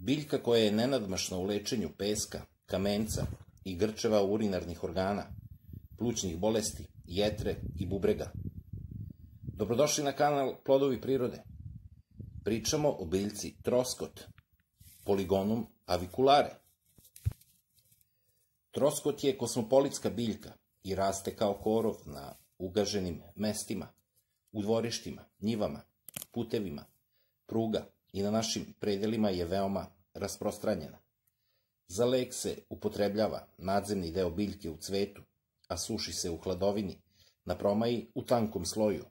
Biljka koja je nenadmašna u lečenju peska, kamenca i grčeva urinarnih organa, plućnih bolesti, jetre i bubrega. Dobrodošli na kanal Plodovi prirode. Pričamo o biljci troskot, Polygonum aviculare. Troskot je kosmopolitska biljka i raste kao korov na ugaženim mestima, u dvorištima, njivama, putevima, pruga i na našim predelima je veoma rasprostranjena. Za lek se upotrebljava nadzemni deo biljke u cvetu, a suši se u hladovini, na promaji u tankom sloju.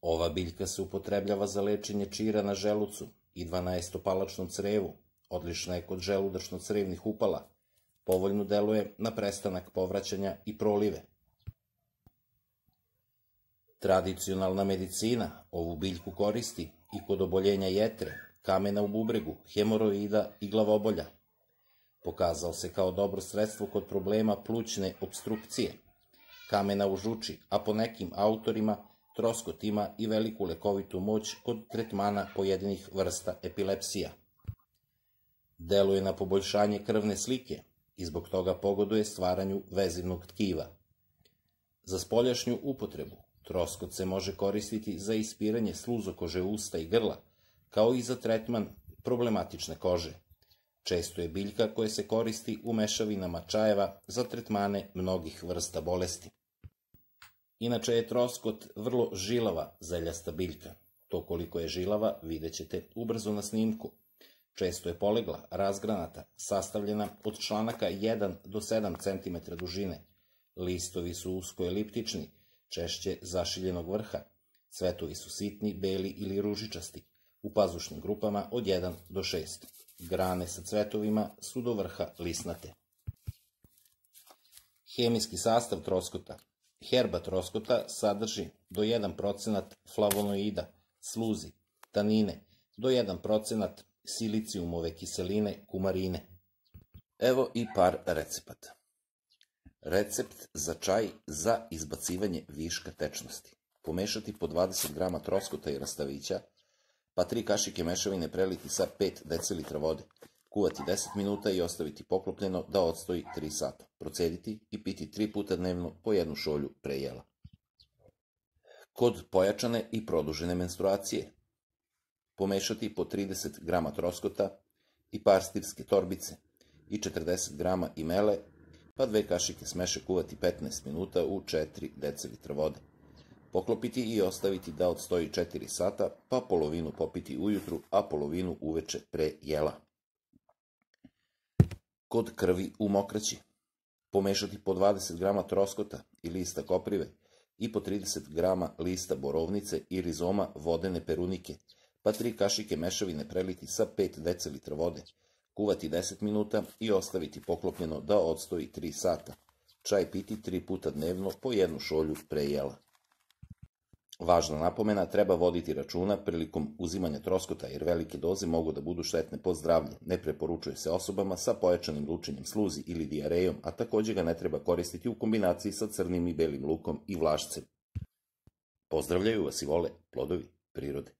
Ova biljka se upotrebljava za lečenje čira na želucu i dvanaestopalačnom crevu, odlična je kod želudačno-crevnih upala, povoljno deluje na prestanak povraćanja i prolive. Tradicionalna medicina ovu biljku koristi i kod oboljenja jetre, kamena u bubregu, hemoroida i glavobolja. Pokazao se kao dobro sredstvo kod problema plućne opstrukcije, kamena u žuči, a po nekim autorima troskot ima i veliku lekovitu moć kod tretmana pojedinih vrsta epilepsija. Deluje na poboljšanje krvne slike i zbog toga pogoduje stvaranju vezivnog tkiva. Za spoljašnju upotrebu troskot se može koristiti za ispiranje sluzokože usta i grla, kao i za tretman problematične kože. Često je biljka koja se koristi u mešavinama čajeva za tretmane mnogih vrsta bolesti. Inače je troskot vrlo žilava zeljasta biljka. To koliko je žilava vidjet ćete ubrzo na snimku. Često je polegla, razgranata, sastavljena od članaka 1 do 7 cm dužine. Listovi su usko-eliptični, češće zašiljenog vrha. Cvetovi su sitni, beli ili ružičasti, u pazušnim grupama od 1 do 6. Grane sa cvetovima su do vrha lisnate. Hemijski sastav troskota. Herba troskota sadrži do 1% flavonoida, sluzi, tanine, do 1% silicijumove kiseline, kumarine. Evo i par recepata. Recept za čaj za izbacivanje viška tečnosti. Pomešati po 20 g troskota i rastavića, pa 3 kašike mešavine preliti sa 5 dl vode. Kuvati 10 minuta i ostaviti poklopljeno da odstoji 3 sata. Procediti i piti 3 puta dnevno po 1 šolju pre jela. Kod pojačane i produžene menstruacije pomešati po 30 g troskota i par stirske torbice i 40 g imele, pa 2 kašike smeše kuvati 15 minuta u 4 dl vode. Poklopiti i ostaviti da odstoji 4 sata, pa polovinu popiti ujutru, a polovinu uveče pre jela. Kod krvi u mokraći pomešati po 20 g troskota i lista koprive i po 30 g lista borovnice i rizoma vodene perunike, pa 3 kašike mešavine preliti sa 5 dl vode. Kuvati 10 minuta i ostaviti poklopljeno da odstoji 3 sata. Čaj piti 3 puta dnevno po 1 šolju pre jela. Važna napomena, treba voditi računa prilikom uzimanja troskota jer velike doze mogu da budu štetne po zdravlje. Ne preporučuje se osobama sa pojačanim lučenjem sluzi ili dijarejom, a takođe ga ne treba koristiti u kombinaciji sa crnim i belim lukom i vlašcem. Pozdravljaju vas i vole Plodovi prirode.